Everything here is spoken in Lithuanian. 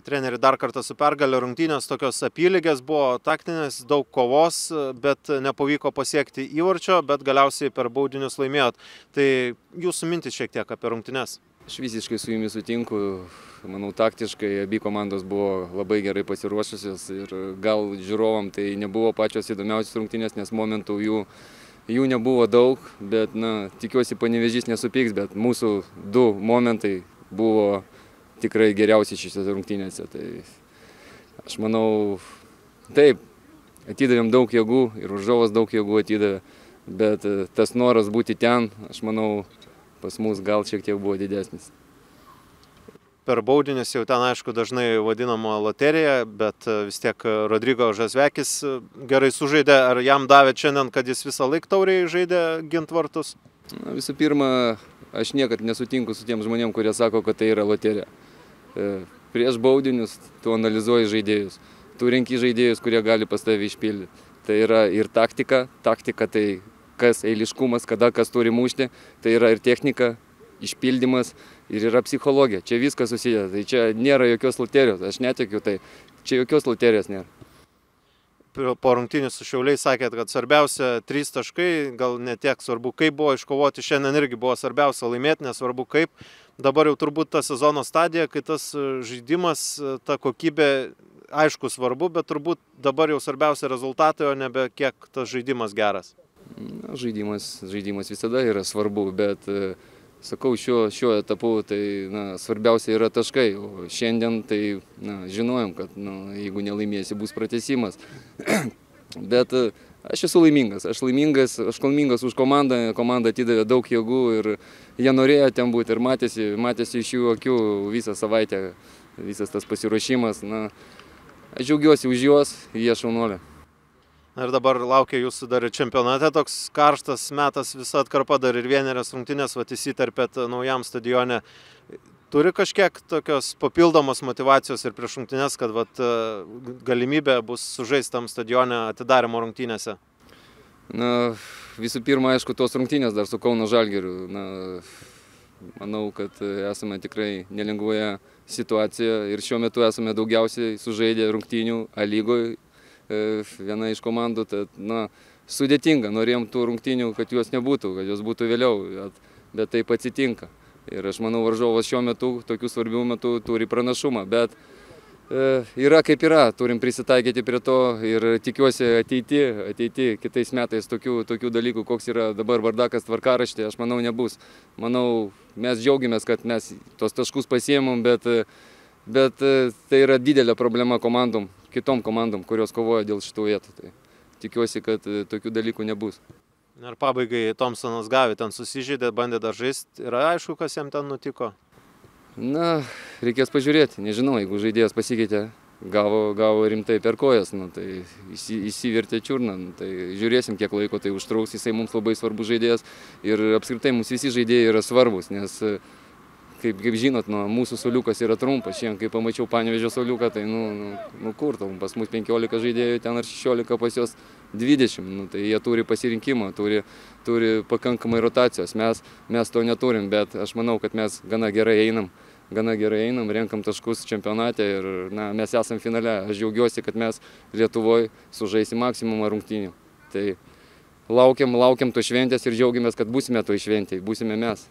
Treneri, dar kartą su pergalė, rungtynės tokios apylygės buvo, taktinės, daug kovos, bet nepavyko pasiekti įvarčio, bet galiausiai per baudinius laimėjot. Tai jūsų mintis šiek tiek apie rungtynes. Aš visiškai su jumis sutinku. Manau, taktiškai abi komandos buvo labai gerai pasiruošusios ir gal žiūrovam tai nebuvo pačios įdomiausios rungtynės, nes momentų jų nebuvo daug, bet tikiuosi Panevėžys nesupyks, bet mūsų du momentai buvo tikrai geriausi šiose rungtynėse. Tai aš manau, taip, atidavėm daug jėgų ir varžovas daug jėgų atidavė, bet tas noras būti ten, aš manau, pas mus gal šiek tiek buvo didesnis. Per baudinius jau ten, aišku, dažnai vadinama loterija, bet vis tiek Rodrigo Žazvekis gerai sužaidė. Ar jam davė šiandien, kad jis visą laiką tauriai žaidė gint vartus? Visų pirma, aš niekad nesutinku su tiem žmonėm, kurie sako, kad tai yra loterija. Prieš baudinius tu analizuoji žaidėjus. Tu renki žaidėjus, kurie gali pas tave išpildyti. Tai yra ir taktika. Taktika tai kas eiliškumas, kada kas turi mušti. Tai yra ir technika, išpildymas ir yra psichologija. Čia viskas susideda. Tai čia nėra jokios loterijos. Aš netikiu tai. Čia jokios loterijos nėra. Po rungtynių su Šiauliais sakėt, kad svarbiausia 3 taškai, gal ne tiek svarbu, kaip buvo iškovoti. Šiandien irgi buvo svarbiausia laimėti, nesvarbu kaip. Dabar jau turbūt ta sezono stadija, kai tas žaidimas, ta kokybė, aišku, svarbu, bet turbūt dabar jau svarbiausia rezultatai, o nebe kiek tas žaidimas geras. Žaidimas visada yra svarbu, bet sakau, šiuo etapu tai svarbiausia yra taškai, o šiandien tai žinojom, kad jeigu nelaimėsi, bus pratęsimas. Bet aš esu laimingas, aš laimingas už komandą, komanda atidavė daug jėgų ir jie norėjo ten būti ir matėsi iš jų akių visą savaitę, visas tas pasiruošimas. Aš džiaugiuosi už juos, jie šaunuoliai. Ir dabar laukia jūsų dar čempionate toks karštas metas, visa atkarpa dar ir vienerias rungtynės, įsiterpėt naujam stadione. Turi kažkiek tokios papildomos motyvacijos ir prieš rungtynes, kad galimybė bus sužaisti tam stadione atidarymo rungtynėse? Visų pirma, aišku, tos rungtynės dar su Kauno Žalgiriu. Manau, kad esame tikrai nelengvoje situacijoje ir šiuo metu esame daugiausiai sužaidę rungtynių A lygoje. Viena iš komandų, tad sudėtinga, norėjom tų rungtynių, kad jos nebūtų, kad jos būtų vėliau, bet taip atsitinka. Ir aš manau, varžovas šiuo metu, tokių svarbių metų, turi pranašumą, bet yra kaip yra, turim prisitaikyti prie to ir tikiuosi ateity kitais metais tokių dalykų, koks yra dabar bardakas tvarkaraštė, aš manau, nebus. Manau, mes džiaugiamės, kad mes tos taškus pasiėmėm, bet tai yra didelė problema kitom komandom, kurios kovoja dėl šitų vietų. Tai tikiuosi, kad tokių dalykų nebus. Ir pabaigai Thompsonas Gavi ten susižeidė, bandė dar žaisti. Yra aišku, kas jam ten nutiko? Reikės pažiūrėti. Nežinau, jeigu žaidėjas pasikeitė, gavo rimtai per kojas, tai įsivertė čiurną. Tai žiūrėsim, kiek laiko tai užtrauks. Jisai mums labai svarbus žaidėjas ir apskritai mums visi žaidėjai yra svarbus, nes kaip žinot, mūsų suoliukas yra trumpas. Šiandien, kai pamačiau Panevėžio suoliuką, tai kur, pas mus 15 žaidėjų, ten ar 16, pas juos 20. Tai jie turi pasirinkimą, turi pakankamai rotacijos. Mes to neturim, bet aš manau, kad mes gana gerai einam, renkam taškus čempionate ir mes esam finale. Aš džiaugiuosi, kad mes Lietuvoje sužaisim maksimumą rungtynių. Tai laukiam to šventės ir džiaugiamės, kad būsime to šventėje, būsime mes.